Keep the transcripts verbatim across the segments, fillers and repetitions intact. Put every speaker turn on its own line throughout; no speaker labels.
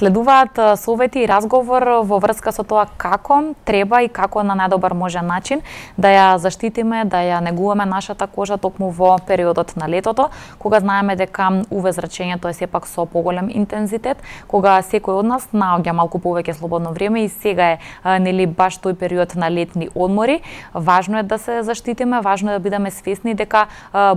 Следуваат совети и разговор во врска со тоа како треба и како на најдобар можен начин да ја заштитиме, да ја негуваме нашата кожа токму во периодот на летото, кога знаеме дека у ве зрачењето е сепак со поголем интензитет, кога секој од нас наоѓа малку повеќе слободно време и сега е нели баш тој период на летни одмори. Важно е да се заштитиме, важно е да бидеме свесни дека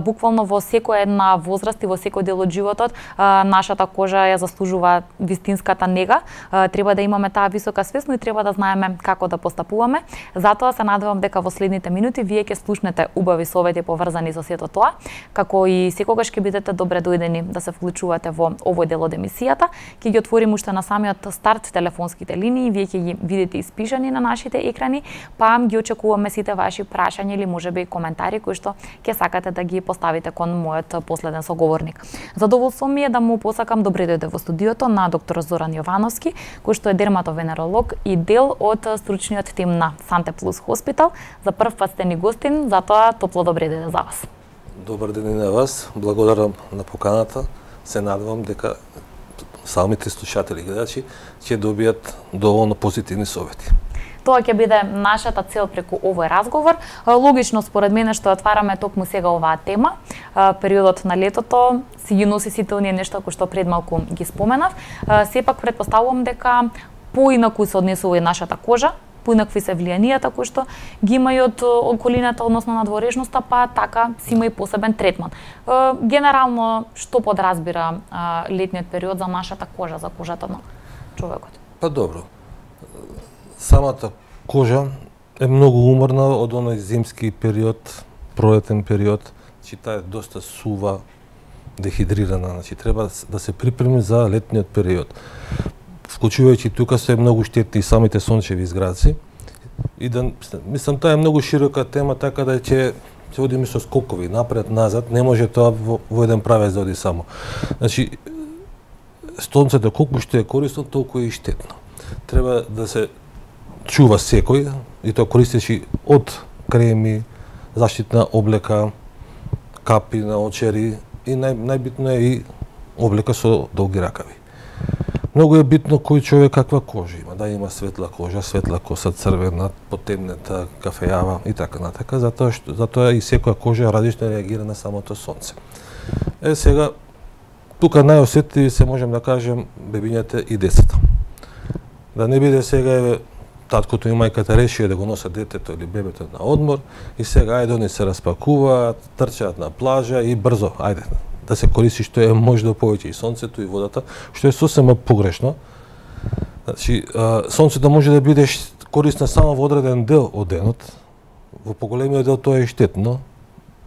буквално во секоја една возраст и во секој дел од животот нашата кожа ја заслужува вистинската нега. Треба да имаме таа висока свест, но и треба да знаеме како да постапуваме. Затоа се надевам дека во следните минути вие ќе слушнете убави совети поврзани со сето тоа, како и секогаш ќе бидете добре дојдени да се вклучувате во овој дел од емисијата. Ќе ги отворим уште на самиот старт телефонските линии, вие ќе ги видите испишани на нашите екрани, па ги очекуваме сите ваши прашања или можеби коментари кои што ќе сакате да ги поставите кон мојот последен соговорник. Задоволство ми е да му посакам добре дојде во студиото на доктор Зоран Јовановски, кој што е дерматовенеролог и дел од стручниот тим на Санте Плюс Хоспитал. За прв пат сте ни гостин, затоа топло добре дојде за вас.
Добар ден и на вас, благодарам на поканата. Се надевам дека самите слушатели и гледачи ќе добијат доволно позитивни совети.
Тоа ќе биде нашата цел преку овој разговор. Логично според мене што отвараме токму сега оваа тема, периодот на летото си ги носи сите оние нешта кои што пред малку ги споменав. Сепак претпоставувам дека поинаку се однесува и нашата кожа, поинакви се влијанијата кои што ги имаат околината, односно надворешноста, па така си има и посебен третман. Генерално, што подразбира летниот период за нашата кожа, за кожата на човекот?
Па добро. Самата кожа е многу уморна од оној зимски период, пролетен период, че таа е доста сува, дехидрирана, значи треба да се припреми за летниот период. Вклучувајќи тука се многу штетни самите сончеви изграци. И да мислам таа е многу широка тема, така да ќе се одиме со скокови напред, назад, не може тоа во, во еден правец да оди само. Значи сонцето колку што е корисно, толку е и штетно. Треба да се чува секој, и тоа користечи од креми, заштитна облека, капи на очери и нај, најбитно е и облека со долги ракави. Многу е битно кој човек каква кожа има, да има светла кожа, светла коса, црвена, потемнета, кафејава и така натака, затоа што затоа и секоја кожа различно реагира на самото сонце. Е сега тука најосетливи се можем да кажем бебињата и децата. Да не биде сега еве таткото и мајката решија да го носат детето или бебето на одмор и сега ајде они се распакуваат, трчаат на плажа и брзо, ајде да се користи што е можда повеќе и сонцето и водата, што е сосема погрешно. Значи, сонцето може да биде корисно само во одреден дел од денот, во поголемиот дел тоа е штетно,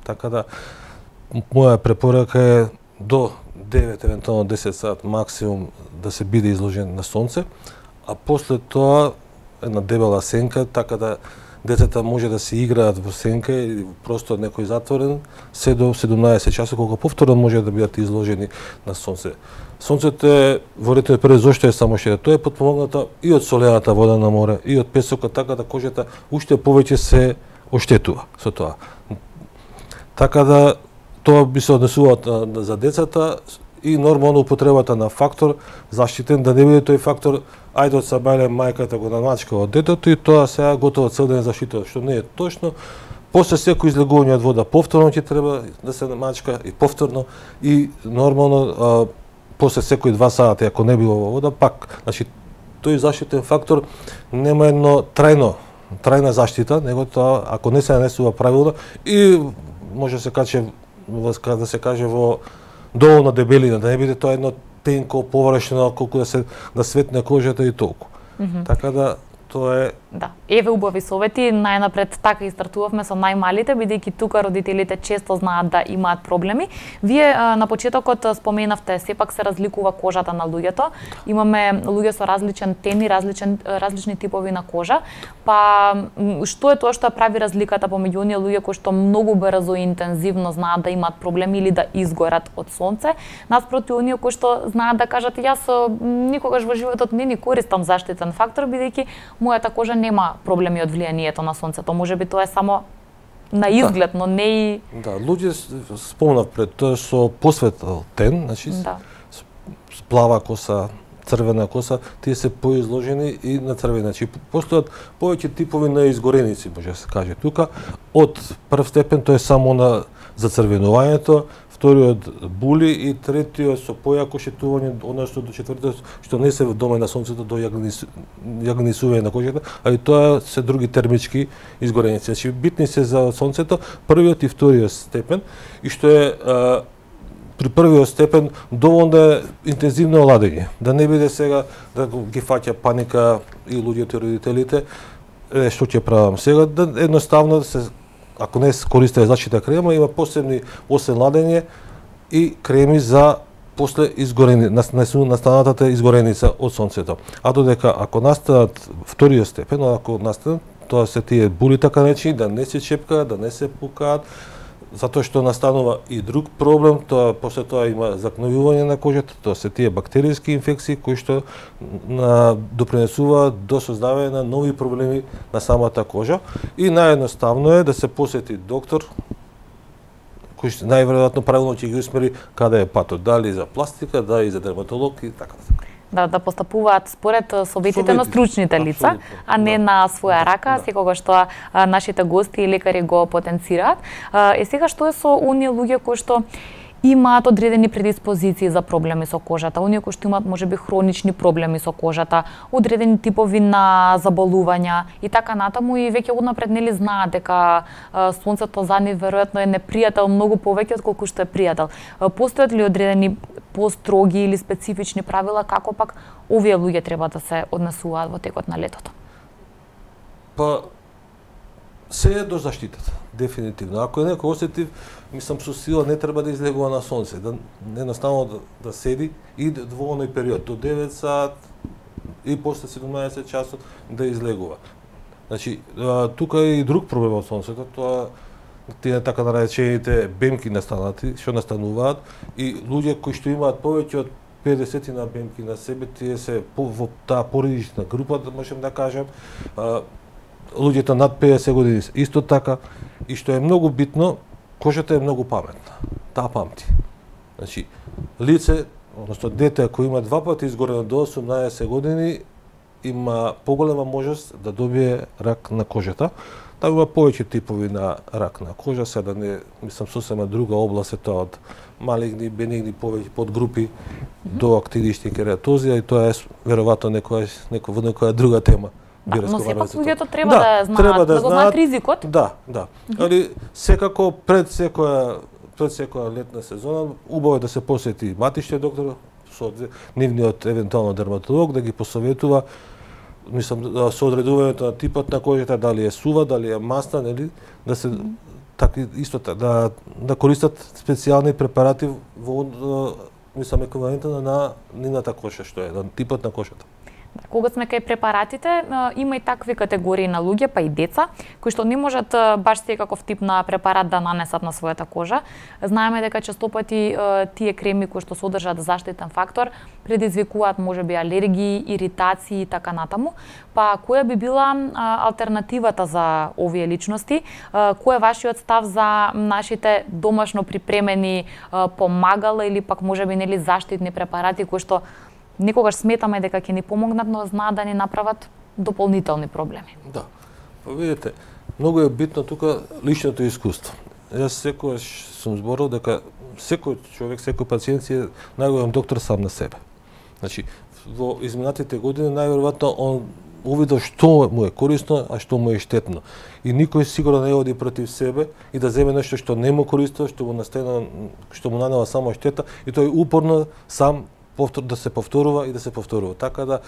така да моја препорака е до девет, евентуално десет сат максимум да се биде изложен на сонце, а после тоа една дебела сенка, така да децата може да се играат во сенка или во простор некој затворен, се до седумнаесет часа, колку повторно може да бидат изложени на сонце. Сонцето е во летниот период зошто е само штета? Тоа е потпомогнато и од солената вода на море, и од песокот, така да кожата уште повеќе се оштетува со тоа. Така да тоа би се однесува за децата и нормално употребата на фактор заштитен, да не биде тој фактор ајде од сабајле мајката го намачка од детето и тоа сега готово цел ден заштитува, што не е точно. После секој излегување од вода повторно ќе треба да се намачка и повторно и нормално а, после секој два сати ако не било во вода пак, значи тој заштитен фактор нема едно трајно трајна заштита, него тоа ако не се нанесува правилно и може да се каже да се каже во доволно дебелина, да не биде тоа едно тенко, површно, колку да се да светне кожата и толку. Mm -hmm. Така да тоа е.
Да. Еве убави совети, најнапред така и стартувавме со најмалите, бидејќи тука родителите често знаат да имаат проблеми. Вие на почетокот споменавте сепак се разликува кожата на луѓето. Имаме луѓе со различен тени, различен различни типови на кожа. Па што е тоа што прави разликата помеѓу оние луѓе кои што многу брзо и интензивно знаат да имаат проблеми или да изгорат од сонце, наспроти оние кои што знаат да кажат јас никогаш во животот не ни користам заштитен фактор бидејќи мојата кожа нема проблеми од влијанието на сонцето. Можеби тоа е само на изглед, да. Но не и...
Да, луѓе спомнав пред тоа со посветал тен, значи, да. Плава коса, црвена коса, тие се поизложени и на црвени. Значи постојат повеќе типови на изгореници, може да се каже тука. Од прв степен тоа е само на зацрвенувањето, вториот були и третиот со појако шетување, односно до четвртиот што не се дома на сонцето до јагнисување на кожата, а и тоа се други термички изгореници. Значи битни се за сонцето првиот и вториот степен, и што е а, при првиот степен доволно да е интензивно ладење, да не биде сега да ги фаќа паника и луѓето и родителите, е, што ќе правам сега, да едноставно да се, ако не се користи заштитна крема, има посебни освен ладење и креми за после изгорени, настанатата изгореница од сонцето. А додека ако настанат вториот степен, ако настанат, тоа се тие були така речени, да не се чепкаат, да не се пукаат, затоа што настанува и друг проблем, тоа после тоа има закновување на кожата, тоа се тие бактериски инфекции кои што на, допринесуваат до создавање на нови проблеми на самата кожа, и наједноставно е да се посети доктор кој што најверојатно правилно ќе ги усмери каде е патот, дали за пластика, дали за дерматолог и така.
Да, да постапуваат според советите на стручните лица, а не да. на своја рака, да. секогаш што нашите гости и лекари го потенцираат. Е сега што е со оние луѓе кои што имаат одредени предиспозиции за проблеми со кожата, оние кои што имаат можеби хронични проблеми со кожата, одредени типови на заболувања и така натаму, и веќе однапред нели знаат дека сонцето за нив веројатно е непријател многу повеќе отколку што е пријател. Постојат ли одредени построги или специфични правила како пак овие луѓе треба да се однесуваат во текот на летото?
Па се е до заштитата, дефинитивно. Ако е некој осетив, мислам со сила не треба да излегува на сонце, да едноставно да, да седи и во оној период до девет сат и после седумнаесет часот да излегува. Значи, тука е и друг проблем од сонцето, тоа тие така наречените бемки настанати, што настануваат, и луѓе кои што имаат повеќе од педесет на бемки на себе, тие се по, во таа породична група, да можем да кажем, а, луѓето над педесет години исто така, и што е многу битно, кожата е многу паметна, таа памти. Значи, лице, односно дете кој има два пати изгорено до осумнаесет години, има поголема можност да добие рак на кожата. Таа има повеќе типови на рак на кожа, сега не, мислам, сосема друга област е тоа од малигни, бенигни повеќе подгрупи mm -hmm. до актинични кератозија, и тоа е веројатно некоја некоја во некоја друга тема.
Да, но сепак луѓето треба да, да знаат, треба да, да го знаат ризикот.
Да, да. Mm -hmm. Али секако пред секоја пред секоја летна сезона убаво е да се посети матичниот доктор со нивниот евентуално дерматолог, да ги посоветува, мислам, со одредувањето на типот на кожата, дали е сува, дали е масна, нели, да се mm-hmm. така исто да да користат специјални препарати во, мислам, еквивалентно на нивната кожа што е, на типот на кожата.
Кога сме кај препаратите, има и такви категории на луѓе, па и деца, кои што не можат баш секаков тип на препарат да нанесат на својата кожа. Знаеме дека честопати тие креми кои што содржат заштитен фактор предизвикуваат можеби алергии, иритации и така натаму. Па која би била алтернативата за овие личности? Кој е вашиот став за нашите домашно припремени помагала или пак можеби нели заштитни препарати кои што некогаш сметаме дека ќе ни помогнат, но знаат да ни направат дополнителни проблеми?
Да. Па видите, многу е битно тука личното искуство. Јас секогаш сум зборил дека секој човек, секој пациент е најголем доктор сам на себе. Значи, во изминатите години најверојатно он увидел што му е корисно, а што му е штетно. И никој сигурно не оди против себе и да земе нешто што не му користо, што му настена, што му нанела само штета, и тој упорно сам да се повторува и да се повторува. Така да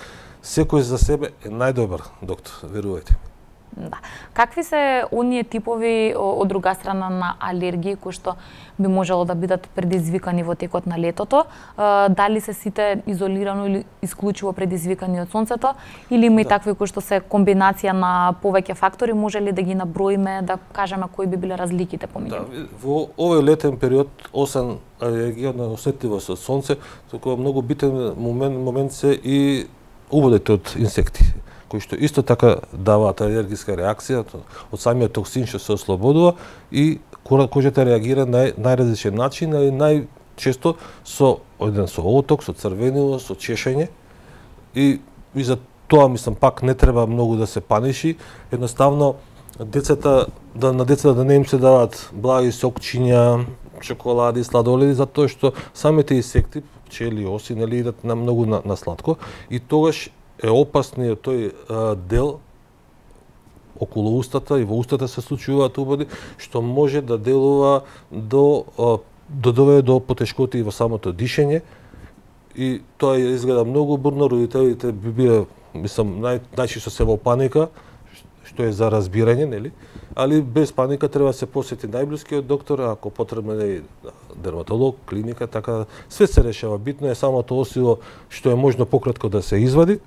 секој за себе е најдобар доктор, верувајте.
Да. Какви се оние типови од друга страна на алергии кои што би можело да бидат предизвикани во текот на летото? Дали се сите изолирано или исклучиво предизвикани од сонцето, или има и да. такви кои што се комбинација на повеќе фактори? Може ли да ги наброиме, да кажеме кои би биле разликите помеѓу?
Да, во овој летен период, освен алергија на осетливост од сонце, толку многу битен момент, момент се и убодите од инсекти, кои што исто така даваат алергиска реакција од самиот токсин што се ослободува, и кожата реагира на најразличен начин, али најчесто со оден со оток, со црвенило, со чешење, И, и за тоа мислам пак не треба многу да се паниши, едноставно децата да на децата да не им се даваат благи сокчиња, чоколади, сладоледи, затоа што самите инсекти, пчели, оси, нели идат на многу на, на сладко и тогаш е опасниот тој а, дел околу устата и во устата се случуваат убади, што може да делува до до доведе до потешкоти во самото дишење и тоа изгледа многу бурно, родителите би биле, мислам, нај, најчесто се во паника, што е за разбирање, нели? Али без паника треба да се посети најблискиот доктор, ако потребно е дерматолог, клиника, така све се решава. Битно е самото осило што е можно пократко да се извади,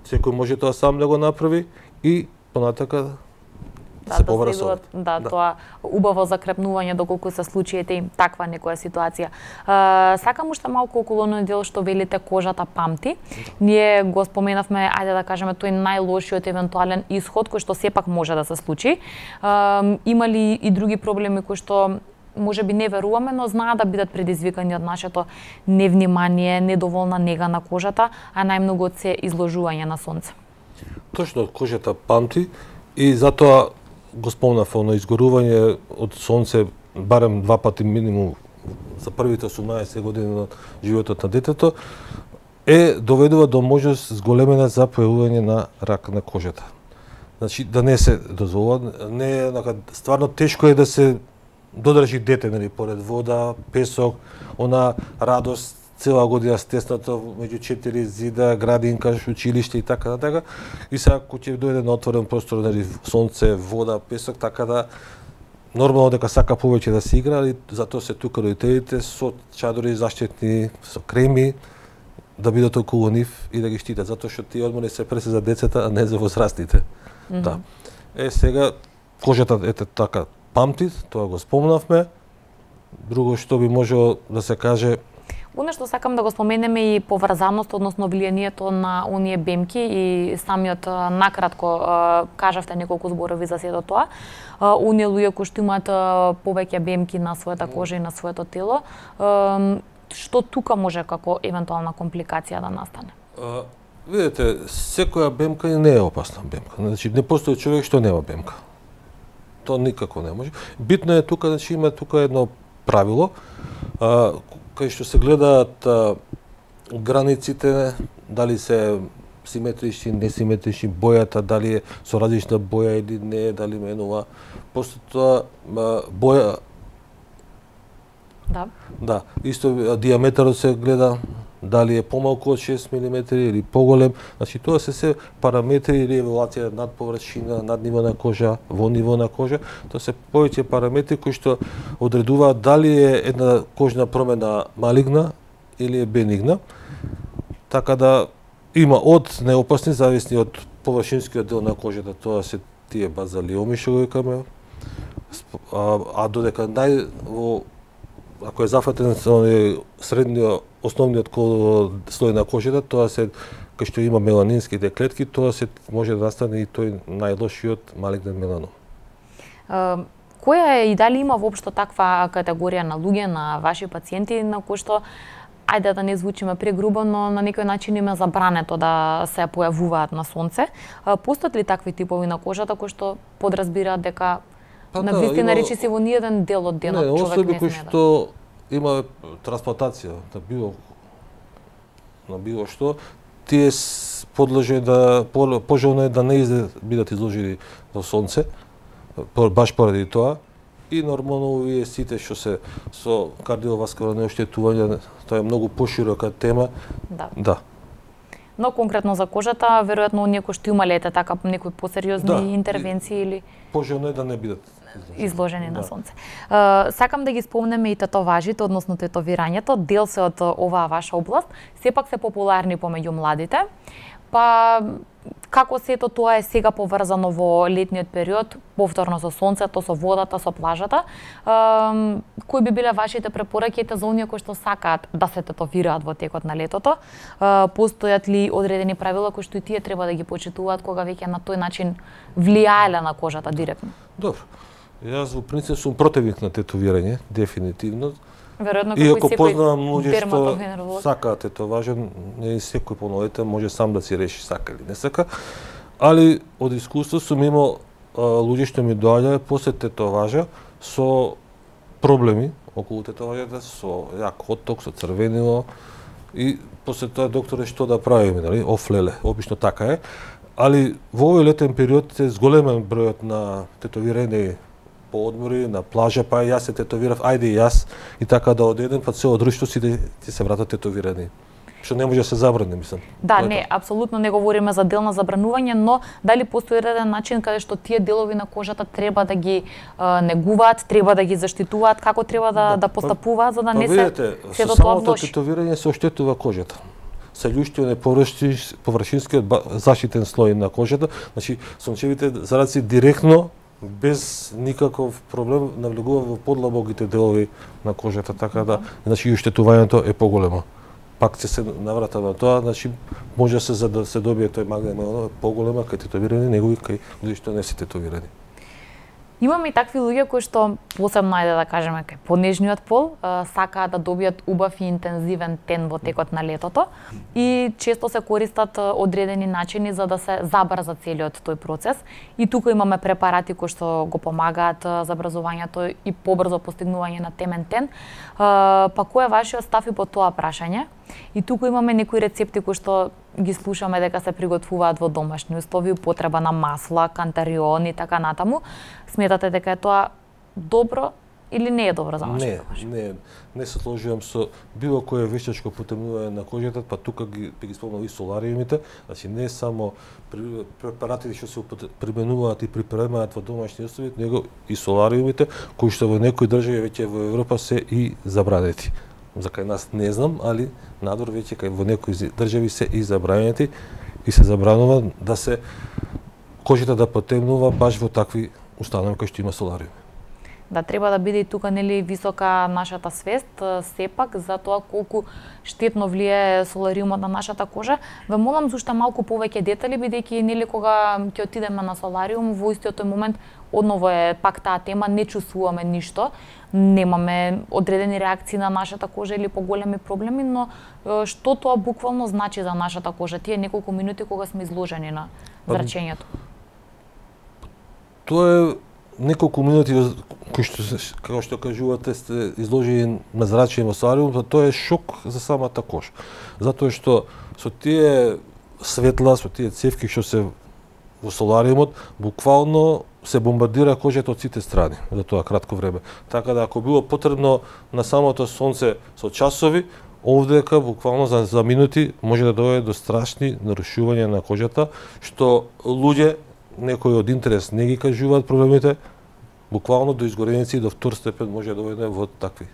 секој може тоа сам да го направи и понатака
да,
се
да
побара
се
со
да, да, тоа убаво закрепнување доколку се случи ете им таква некоја ситуација. Uh, сакам уште малку околу оној дел што велите кожата памти. Ние го споменавме, ајде да кажеме, тој најлошиот евентуален исход кој што сепак може да се случи. Uh, има ли и други проблеми кои што може би не веруваме, но знаат да бидат предизвикани од нашето невнимание, недоволна нега на кожата, а најмногу од се изложување на сонце.
Точно, кожата памти и затоа го спомнав оно изгорување од сонце барем два пати минимум за првите осумнаесет години на животот на детето е доведува до можност зголемена за појавување на рак на кожата. Значи да не се дозволува, не е стварно тешко е да се додржи дете, нели, поред вода, песок, она радост цела година стеснато меѓу четири зида, градинка, училиште и така натака. И сега кога ќе дојде на отворен простор, нели, сонце, вода, песок, така да нормално дека сака повеќе да се игра, али затоа се тука родителите со чадори заштитни, со креми, да бидат околу нив и да ги штитат, затоа што тие одмори се преси за децата, а не за возрастните. Mm -hmm. Да. Е, сега кожата ете така памти, тоа го спомнавме. Друго што би можело да се каже,
Оно што сакам да го споменеме и поврзаност, односно влијанието на оние бемки и самиот накратко кажавте неколку зборови за сето тоа. Оние луѓе кои што имаат повеќе бемки на својата кожа и на своето тело, што тука може како евентуална компликација да настане?
А, видите, секоја бемка не е опасна бемка. Значи не постои човек што нема бемка. Тоа никако не може. Битно е тука, значи има тука едно правило, а, кај што се гледаат а, границите, дали се симетрични, несиметрични, бојата, дали е со различна боја или не, дали менува. После тоа боја.
Да.
Да, исто диаметарот се гледа, дали е помалку од шест милиметри или поголем. Значи тоа се се параметри или евалуација над површина, над ниво на кожа, во ниво на кожа. Тоа се повеќе параметри кои што одредуваат дали е една кожна промена малигна или е бенигна. Така да има од неопасни, зависни од површинскиот дел на кожата, тоа се тие базалиоми што го викаме. А, а додека нај во ако е зафатен со средниот основниот слој на кожата, тоа се кај што има меланинските клетки, тоа се може да настане и тој најлошиот малигнен меланом.
Uh, која е и дали има воопшто таква категорија на луѓе, на ваши пациенти на кои што, ајде да не звучиме прегрубо, но на некој начин им е забрането да се појавуваат на сонце? Uh, постојат ли такви типови на кожата кои што подразбираат дека па, на вистина речи се во ниеден дел од денот
не,
човек не
кои
сме да.
што има трансплантација на било на било што, тие подлежи да пожелно е да не изде, бидат изложени во сонце, баш поради тоа. И нормално овие сите што се со кардиоваскуларни оштетувања, тоа е многу поширока тема.
Да.
Да.
Но конкретно за кожата, веројатно оние кои што имале така некои посериозни да, интервенции или
пожелно е да не бидат
изложени, изложени да. на сонце. Uh, сакам да ги спомнеме и татоважите, односно тетовирањето, дел се од оваа ваша област, сепак се популарни помеѓу младите. Па како сето тоа е сега поврзано во летниот период, повторно со сонцето, со водата, со плажата. Uh, кои би биле вашите препораки за оние кои што сакаат да се тетовираат во текот на летото? Uh, постојат ли одредени правила кои што и тие треба да ги почитуваат кога веќе на тој начин влијаеле на кожата директно?
Добро. Јас во принцип сум противник на тетовирање, дефинитивно,
Веројатно
Иако
како и
познавам
секој
луѓе што
дерматовенеролог.
сакаат тетоважа, не и секој полнолетен може сам да си реши сака или не сака, али од искуство сум имал а, луѓе што ми доаѓале после тетоважа со проблеми околу тетоважата, со јак отток, со црвенило и после тоа докторе што да правиме, нели? Офлеле, обично така е. Али во овој летен период се зголемен бројот на тетовирани по одмори, на плажа, па јас се тетовирав, ајде и јас, и така да одедем, па цело друштво си да ти се вратат тетовирани. Што не може да се забрани, мислам.
Да, не, апсолутно не говориме за дел на забранување, но дали постои реден начин каде што тие делови на кожата треба да ги а, негуваат, треба да ги заштитуваат, како треба да, да, да постапуваат за да
па,
не се
видите,
се до
со
тоа
самото
влоши.
тетовирање се оштетува кожата. Се луштиот површинскиот заштитен слој на кожата, значи сончевите зараци директно без никаков проблем навлегува во подлабоките делови на кожата, така да, значи и оштетувањето е поголемо. Пак ќе се наврата на тоа, значи може да се за да се добие тој магнем е поголема кај тетовирани, него и кај луѓе што не се тетовирани.
Имаме и такви луѓе кои што посебно ајде да кажеме кај понежниот пол сакаат да добијат убав и интензивен тен во текот на летото и често се користат одредени начини за да се забрза целиот тој процес. И тука имаме препарати кои што го помагаат забрзувањето и побрзо постигнување на темен тен. Па кој е вашиот став и по тоа прашање? И тука имаме некои рецепти кои што ги слушаме дека се приготвуваат во домашни услови, употреба на масла, кантарион и така натаму. Сметате дека е тоа добро или не е добро за нашата кожа?
Не, не, не се сложувам со било кое вештачко потемнување на кожата, па тука ги би ги спомнал и солариумите, значи не само препаратите што се применуваат и припремаат во домашни услови, него и солариумите кои што во некои држави веќе во Европа се и забранети. За кај нас не знам, али надвор веќе кај во некои држави се и забранети и се забранува да се кожата да потемнува баш во такви установи кои што има солариум.
Да, треба да биде и тука нели висока нашата свест сепак за тоа колку штетно влијае солариумот на нашата кожа. Ве молам за уште малку повеќе детали бидејќи нели кога ќе отидеме на солариум во истиот тој момент одново е пак таа тема, не чувствуваме ништо, немаме одредени реакции на нашата кожа или поголеми проблеми, но што тоа буквално значи за нашата кожа тие неколку минути кога сме изложени на зрачењето?
Тоа е неколку минути кои што како што кажувате сте изложени на зрачење во солариум, тоа е шок за самата кожа. Затоа што со тие светла, со тие цевки што се во солариумот, буквално се бомбардира кожата од сите страни за тоа кратко време. Така да ако било потребно на самото сонце со часови, овдека буквално за, за минути може да доведе до страшни нарушувања на кожата, што луѓе некои од интерес не ги кажуваат проблемите, буквално до изгореници и до втор степен може да доведе во такви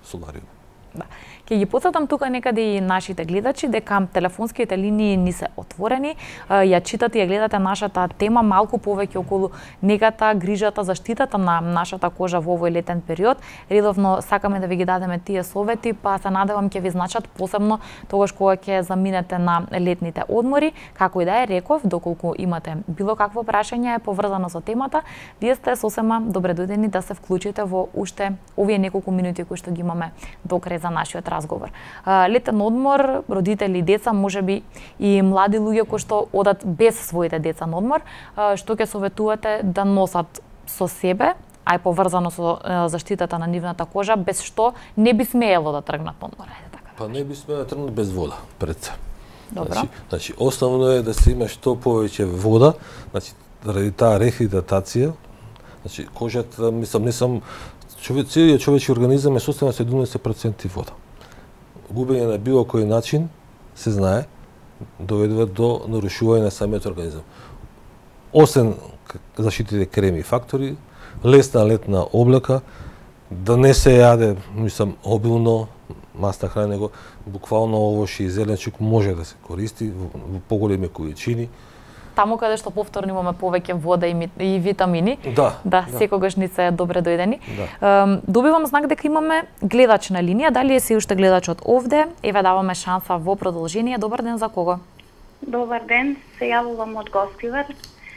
солариуми.
Да. Ќе ги потсетам тука некаде и нашите гледачи дека телефонските линии ни се отворени. Ја читате и ја гледате нашата тема малку повеќе околу негата, грижата, заштитата на нашата кожа во овој летен период. Редовно сакаме да ви ги дадеме тие совети, па се надевам ќе ви значат посебно тогаш кога ќе заминете на летните одмори. Како и да е, реков, доколку имате било какво прашање поврзано со темата, вие сте сосема добре дојдени да се вклучите во уште овие неколку минути кои што ги имаме до крај за нашиот разговор. Летен одмор, родители и деца, можеби и млади луѓе кои што одат без своите деца на одмор, што ќе советувате да носат со себе, а и поврзано со заштитата на нивната кожа, без што не би смеело да тргнат на одмор, ајде така.
Па не би смеело да тргнат без вода пред се.
Добро.
Значи, значи основно е да се има што повеќе вода, значи заради таа рехидратација, значи кожата, мислам, не сам човек, целиот човечки организам е составен седумдесет проценти вода. Губење на било кој начин, се знае, доведува до нарушување на самиот организам. Освен заштитите креми и фактори, лесна летна облека, да не се јаде, мислам, обилно масна храна, него буквално овошје и зеленчук може да се користи во, во поголеми количини.
Таму каде што повторно имаме повеќе вода и, ми, и витамини,
да,
да,
да,
секогаш ни се добре дојдени.
Да.
Добивам знак дека имаме гледач на линија, дали е се уште гледачот овде? Еве даваме шанса во продолжение. Добар ден, за кого?
Добар ден, се јавувам од Гостивар.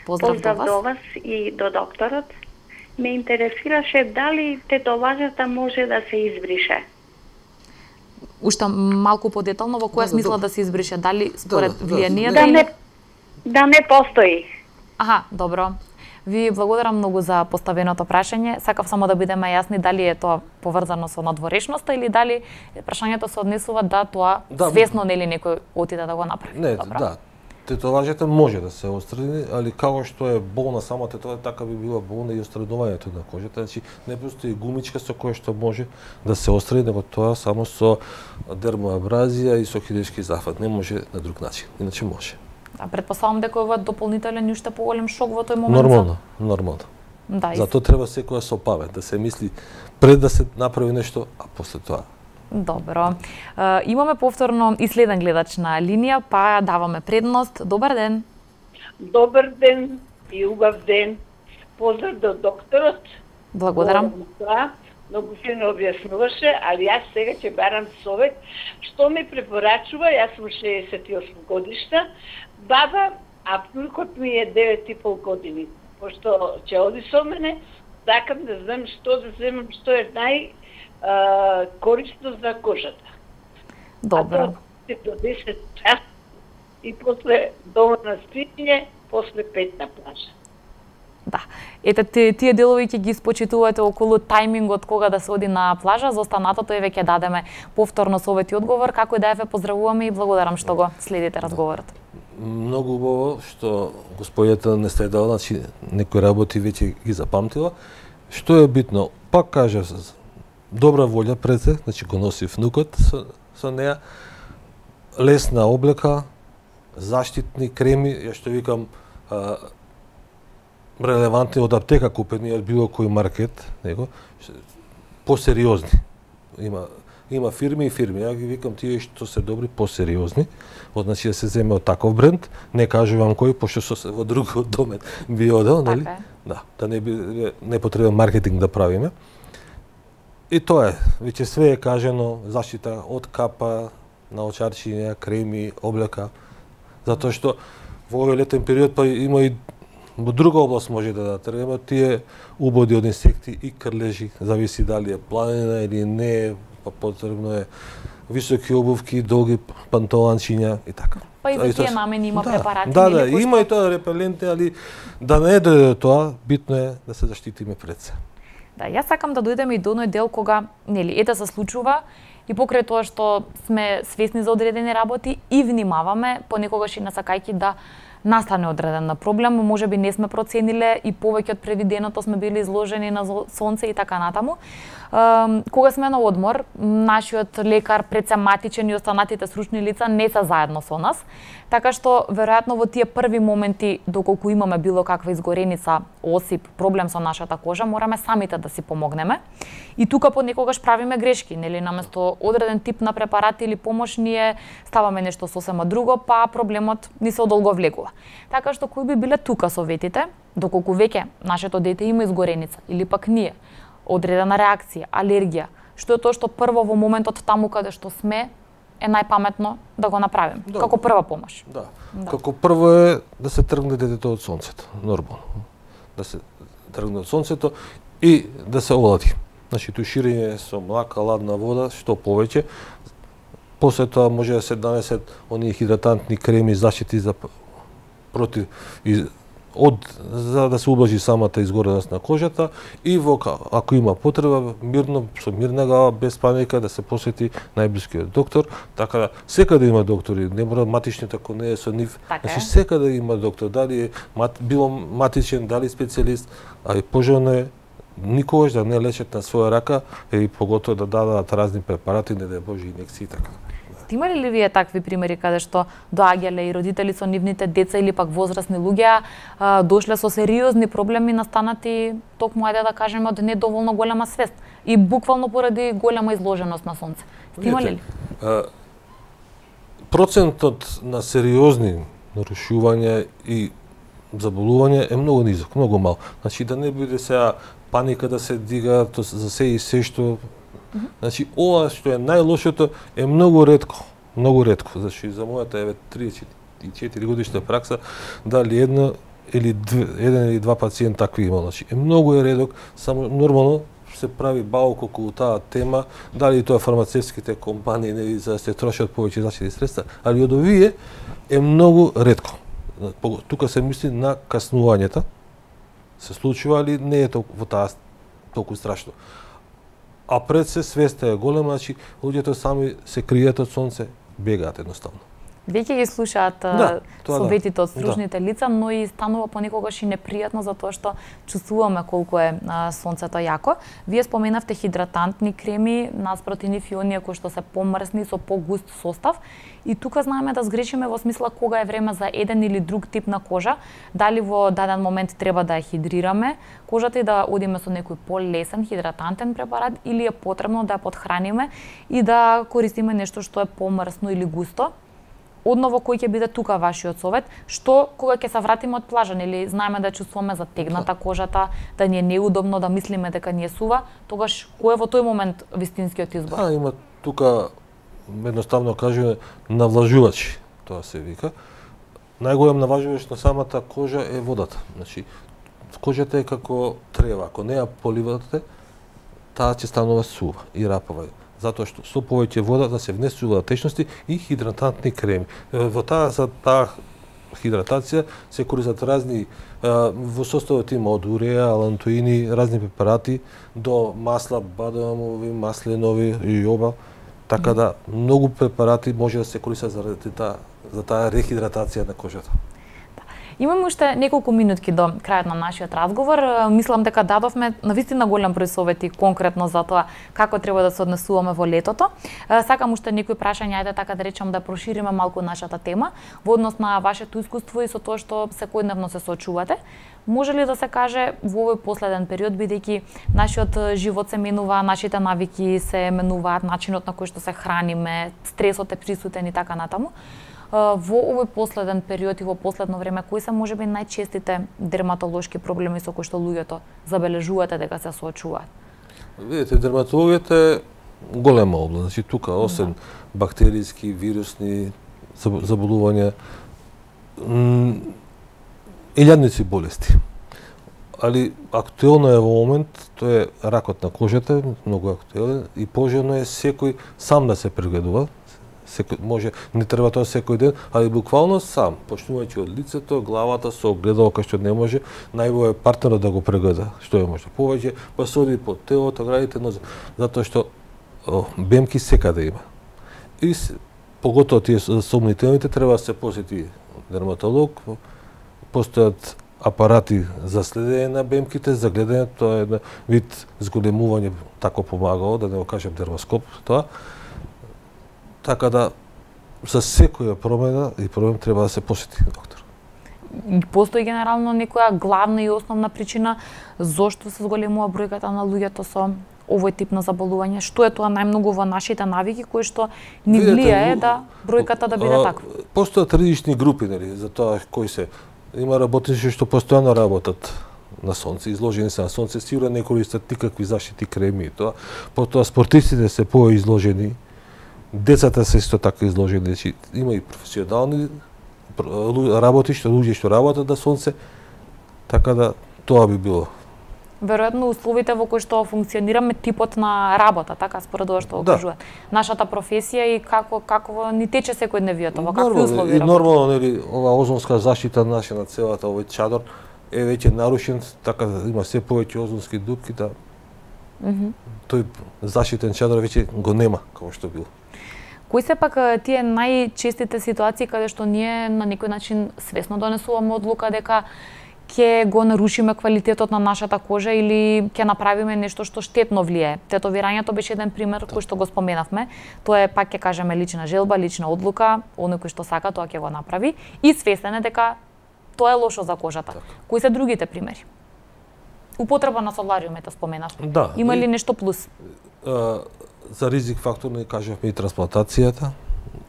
Поздрав,
Поздрав
до вас.
до вас и до докторот. Ме интересираше дали тетоважата може да се избрише.
уште малку подетално во која
Да, да,
смисла
добро.
да се избрише, дали според
да, да,
влијанието
Да
или
не, да не постои.
Аха, добро. Ви благодарам многу за поставеното прашање. Сакав само да бидеме јасни дали е тоа поврзано со надворешноста или дали прашањето се однесува да тоа
Да,
свесно нели некој отиде да го направи.
Не,
Добро.
да. Тетоважите може да се отстрани, али како што е болна самата тетова, така би била болна и отстранувањето на кожата. Значи, не постои гумичка со која што може да се отстрани, него тоа само со дермоабразија и со хируршки зафат. Не може на друг начин, иначе може.
Да, предпоставам дека ова дополнителен и уште поголем шок во тој момент.
Нормално, нормално.
Да,
Затоа треба секоја со памет, да се мисли пред да се направи нешто, а после тоа.
Добро. Uh, имаме повторно и следен гледач на линија, па даваме предност. Добар ден.
Добар ден и убав ден. Поздрав до докторот.
Благодарам.
Да, многу фино објаснуваше, али јас сега ќе барам совет. Што ми препорачува, јас сум шеесет и осум годишна, баба, а внукот ми е девет и пол години. Пошто ќе оди со мене, сакам да знам што да земам, што е нај а, корисно за кожата.
Добро.
А тоа до десет час и после дома на спиње, после пет на плажа.
Да. Ете, ти- тие делови ќе ги спочитувате околу тајмингот кога да се оди на плажа, за останатото еве ќе дадеме повторно совет и одговор, како и да еве поздравуваме и благодарам што го следите разговорот.
Многу убаво што господјата не следала, значи некои работи веќе ги запамтила. Што е битно? Пак кажа, добра волја пред се, значи го носи внукот со, со неа, лесна облека, заштитни креми, ја што викам, а, релевантни од аптека купени од било кој маркет, него, посериозни. Има има фирми и фирми. Ја ги викам тие што се добри посериозни. Од значи да се земе од таков бренд, не кажувам кој, пошто со се во другиот домет би одел, нели?
Така е.
Да, да не би непотребен маркетинг да правиме. И тоа е, веќе све е кажано, заштита од капа, наочарчиња, креми, облека, затоа што во овој летен период па има и во друга област може да треба тие убоди од инсекти и крлежи, зависи дали е планина или не, па потребно е високи обувки, долги панталончиња и така.
Па и за
А
тие
тоа-
намени има
да,
препарати.
Да, да,
нели, кои
има
што-
и тоа репеленти, али да не дојде до тоа, битно е да се заштитиме пред се.
Да, јас сакам да дојдеме и до оној дел кога, нели, ете се случува и покрај тоа што сме свесни за одредени работи и внимаваме, понекогаш и насакајќи да настане одреден проблем, можеби не сме процениле и повеќе од предвиденото сме били изложени на зо- сонце и така натаму. Ем, кога сме на одмор, нашиот лекар, предсематичен и останатите стручни лица не се заедно со нас, така што веројатно во тие први моменти доколку имаме било каква изгореница, осип, проблем со нашата кожа, мораме самите да си помогнеме. И тука понекогаш правиме грешки, нели, наместо одреден тип на препарати или помош ние ставаме нешто сосема друго, па проблемот ни се одолговлекува. Така што кои би биле тука советите, доколку веќе нашето дете има изгореница или пак ние одредена реакција, алергија, што е тоа што прво во моментот таму каде што сме е најпаметно да го направиме,
Да.
како прва помош.
Да.
Да.
Како прво е да се тргне детето од сонцето, нормално. Да се тргне од сонцето и да се олади. Значи туширање со млака, ладна вода, што повеќе. После тоа може да се донесат оние хидратантни креми, заштити за п- против и од за да се ублажи самата изгореност на кожата и во ка- ако има потреба мирно со мирна глава без паника да се посети најблискиот доктор, така да секаде има доктори, не мора матичниот ако не е со нив.
Така е.
Значи секаде има доктор, дали е мат, било матичен, дали специјалист, а и пожелно е никогаш да не лечат на своја рака и поготово да дадат разни препарати, не да боже инекции и така.
Имали ли вие такви примери каде што доаѓале и родители со нивните деца или пак возрастни луѓе а, дошле со сериозни проблеми настанати токму ајде да кажеме од недоволно голема свест и буквално поради голема изложеност на сонце? Сте имали ли?
А, процентот на сериозни нарушувања и заболувања е многу низок, многу мал. Значи да не биде сега паника да се дига то за се и се што. Значи ова што е најлошото е многу ретко, многу ретко. Значи за мојата еве триесет и четири годишна пракса дали едно или две, еден или два пациент такви има. Значи е многу е редок, само нормално се прави баук околу таа тема, дали тоа фармацевтските компании нели за да се трошат повеќе защитни средства, али од овие е многу ретко. Тука се мисли на каснувањата. Се случува, али не е толку во таа толку страшно. А пред се свеста е голема, значи луѓето сами се кријат од сонце, бегаат едноставно.
Веќе ги слушаат
да,
советите
да.
од стружните да. лица, но и станува понекогаш и непријатно затоа што чувствуваме колку е а, сонцето јако. Вие споменавте хидратантни креми наспроти нив и оние кои што се помрсни со погуст состав. И тука знаеме да сгрешиме во смисла кога е време за еден или друг тип на кожа, дали во даден момент треба да ја хидрираме кожата и да одиме со некој полесен хидратантен препарат, или е потребно да ја подхраниме и да користиме нешто што е помрсно или густо. Одново, кој ќе биде тука вашиот совет? Што кога ќе се вратиме од плажа, или знаеме да чувствуваме затегната кожата, да ни е неудобно, да мислиме дека ни е сува, тогаш кој е во тој момент вистинскиот избор?
А, има тука, едноставно кажуваме, навлажувачи, тоа се вика. Најголем навлажувач на самата кожа е водата. Значи, кожата е како трева, ако не ја поливате, таа ќе станува сува и рапава. Затоа што со повеќе вода да се внесуваат течности и хидратантни креми. Во таа за таа хидратација се користат разни во составот има од уреа, алантоини, разни препарати до масла бадамови, масленови и јоба. Така да многу препарати може да се користат заради таа за таа рехидратација на кожата.
Имаме уште неколку минутки до крајот на нашиот разговор. Мислам дека дадовме навистина голем број совети конкретно за тоа како треба да се однесуваме во летото. Сакам уште некои прашања, ајде така да речам да прошириме малку нашата тема во однос на вашето искуство и со тоа што секојдневно се соочувате. Може ли да се каже во овој последен период, бидејќи нашиот живот се менува, нашите навики се менуваат, начинот на кој што се храниме, стресот е присутен и така натаму, во овој последен период и во последно време, кои се можеби најчестите дерматолошки проблеми со кои што луѓето забележувате дека се соочуваат?
Видете, дерматологијата е голема област. Значи тука освен да. бактериски, вирусни заболувања, илјадници болести. Али актуелно е во момент, тоа е ракот на кожата, многу актуелен и пожелно е секој сам да се прегледува. Секој може, не треба тоа секој ден, али буквално сам, почнувајќи од лицето, главата со огледало кај што не може, најбо е партнерот да го прегледа, што е може повеќе, па се оди по телото, градите, но затоа што о, бемки секаде има. И поготово тие сомнителните треба да се посети дерматолог, постојат апарати за следење на бемките, за гледање, тоа е една вид зголемување, тако помагало, да не го кажем дермоскоп, тоа. Така да, за секоја промена и проблем треба да се посети доктор.
Постои генерално некоја главна и основна причина зошто се зголемува бројката на луѓето со овој тип на заболување? Што е тоа најмногу во нашите навики кои што ни влијае да бројката да биде таква?
Постојат различни групи, нели, за тоа кои се. Има работници што постојано работат на сонце, изложени се на сонце, сигурно не користат никакви заштитни креми и тоа. Потоа спортистите се поизложени. Децата се исто така изложени, значи има и професионални работи, што луѓе што работат на сонце, така да тоа би било.
Веројатно условите во кои што функционираме, типот на работа, така според ова што
да.
окажуваат. Нашата професија и како како ни тече секојдневието, во какви услови
работи. И нормално, нели, ова озонска заштита наша на целата овој чадор е веќе нарушен, така да има се повеќе озонски дупки, да. Mm -hmm. Тој заштитен чадор веќе го нема како што било.
Кои се пак тие најчестите ситуации каде што ние на некој начин свесно донесуваме одлука дека ќе го нарушиме квалитетот на нашата кожа или ќе направиме нешто што штетно влијае? Тетовирањето беше еден пример кој што го споменавме. Тоа е, пак ќе кажеме, лична желба, лична одлука, оној кој што сака тоа ќе го направи и свесен е дека тоа е лошо за кожата. Так. Кои се другите примери? Употреба на солариумите споменавме.
Да.
Има ли нешто плюс?
А, за ризик фактор не кажавме и трансплантацијата.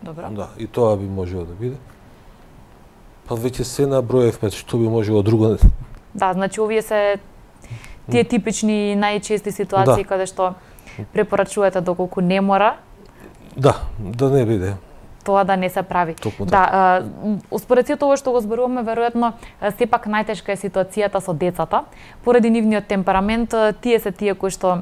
Добро.
Да, и тоа би можело да биде. Па веќе се наброевме што би можело друго.
Да, значи овие се тие типични најчести ситуации да. Каде што препорачувате доколку не мора.
Да, да не биде.
Тоа да не се прави.
Токму
да, според сето ова што го зборуваме, веројатно сепак најтешка е ситуацијата со децата. Поради нивниот темперамент, тие се тие кои што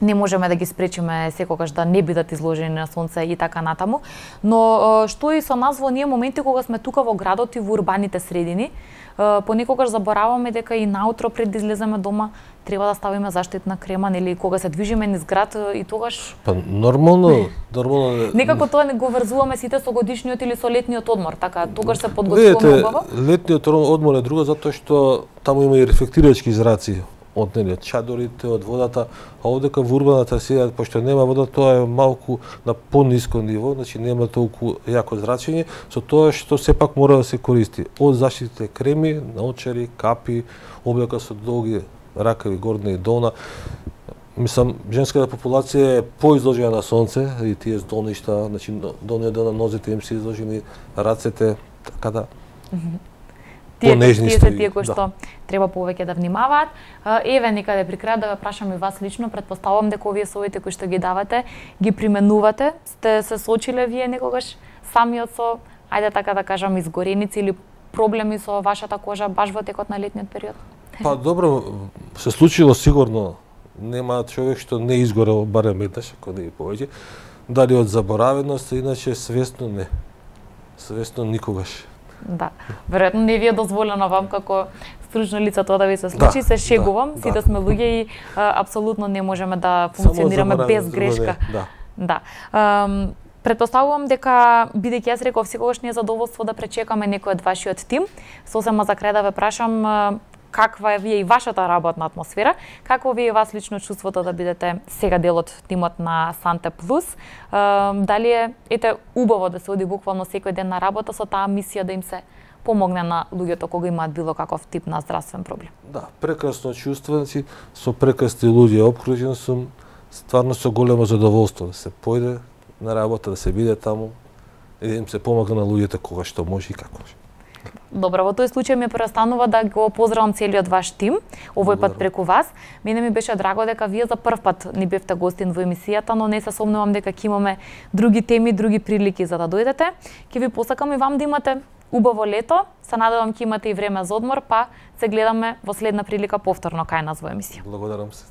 не можеме да ги спречиме секогаш да не бидат изложени на сонце и така натаму, но што и со нас во оние моменти кога сме тука во градот и во урбаните средини, понекогаш забораваме дека и наутро пред да излеземе дома треба да ставиме заштитна крема, нели кога се движиме низ град и тогаш
Па нормално, нормално
некако тоа не го врзуваме сите со годишниот или со летниот одмор, така тогаш се подготвуваме убаво.
Летниот одмор е друго затоа што таму има и рефлектирачки зраци од нели од чадорите, од водата, а овдека во урбаната сега пошто нема вода, тоа е малку на пониско ниво, значи нема толку јако зрачење, со тоа што сепак мора да се користи од заштитните креми, наочари, капи, облека со долги ракави горна и долна. Мислам, женската популација е поизложена на сонце и тие здолништа, значи долниот дел на нозите им се изложени, рацете, така да.
Тие, тие се тие кои што да. Треба повеќе да внимаваат. Еве некаде при крај да ве прашам и вас лично, претпоставувам дека овие совети кои што ги давате, ги применувате. Сте се сочиле вие некогаш самиот со, ајде така да кажам, изгореници или проблеми со вашата кожа баш во текот на летниот период?
Па добро, се случило сигурно. Нема човек што не изгорел барем еднаш, ако не и повеќе. Дали од заборавеност, иначе свесно не. Свесно никогаш.
Да, веројатно не ви е дозволено вам како стручно лице тоа да ви се случи, да, се шегувам, да, сите да. Сме луѓе и а, апсолутно не можеме да функционираме без грешка.
Да.
Да. Um, Претпоставувам дека, бидејќи јас реков, секогаш не е задоволство да пречекаме некој од вашиот тим, сосема за крај да ве прашам каква е вие и вашата работна атмосфера, какво ви е вас лично чувството да бидете сега дел од тимот на Санте Плюс, дали е ете убаво да се оди буквално секој ден на работа со таа мисија да им се помогне на луѓето кога имаат било каков тип на здравствен проблем?
Да, прекрасно чувство, значи со прекрасни луѓе опкружен сум, стварно со големо задоволство да се појде на работа, да се биде таму и да им се помага на луѓето кога што може и како може.
Добро, во тој случај ми преостанува да го поздравам целиот ваш тим, овој пат преку вас. Мене ми беше драго дека вие за прв пат ни бевте гостин во емисијата, но не се сомнувам дека ќе имаме други теми, други прилики за да дојдете. Ќе ви посакам и вам да имате убаво лето. Се надевам ќе имате и време за одмор, па се гледаме во следна прилика повторно кај нас во емисија.
Благодарам се.